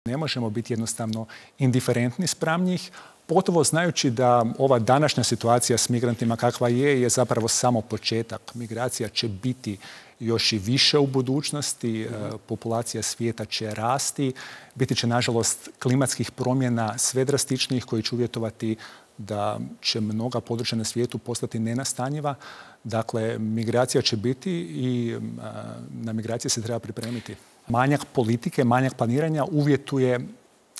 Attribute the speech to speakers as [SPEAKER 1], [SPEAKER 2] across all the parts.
[SPEAKER 1] Ne možemo biti jednostavno indiferentni spram njih, pogotovo znajući da ova današnja situacija s migrantima kakva je zapravo samo početak. Migracija će biti još i više u budućnosti, populacija svijeta će rasti, biti će nažalost klimatskih promjena sve drastičnijih koji će uvjetovati da će mnoga područja na svijetu postati nenastanjiva. Dakle, migracija će biti i na migracije se treba pripremiti. Manjak politike, manjak planiranja uvjetuje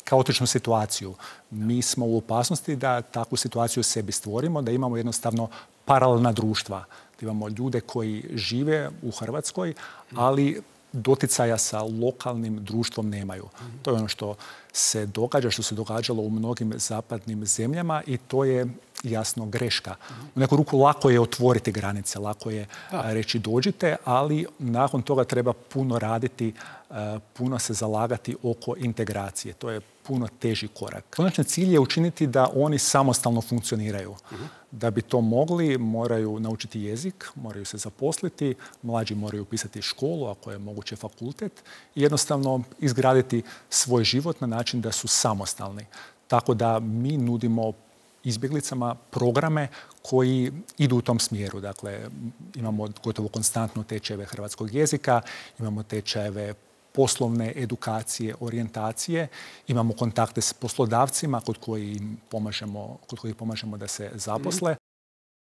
[SPEAKER 1] kaotičnu situaciju. Mi smo u opasnosti da takvu situaciju sebi stvorimo, da imamo jednostavno paralelna društva. Da imamo ljude koji žive u Hrvatskoj, ali doticaja sa lokalnim društvom nemaju. To je ono što se događa, što se događalo u mnogim zapadnim zemljama i to je jasno greška. U neku ruku lako je otvoriti granice, lako je reći dođite, ali nakon toga treba puno raditi, puno se zalagati oko integracije. To je puno teži korak. Konačni cilj je učiniti da oni samostalno funkcioniraju. Da bi to mogli, moraju naučiti jezik, moraju se zaposliti, mlađi moraju upisati školu, ako je moguće fakultet, i jednostavno izgraditi svoj život na način da su samostalni. Tako da mi nudimo izbjeglicama programe koji idu u tom smjeru. Dakle, imamo gotovo konstantno tečajeve hrvatskog jezika, imamo tečajeve poslovne edukacije, orijentacije, imamo kontakte s poslodavcima kod kojih pomažemo da se zaposle.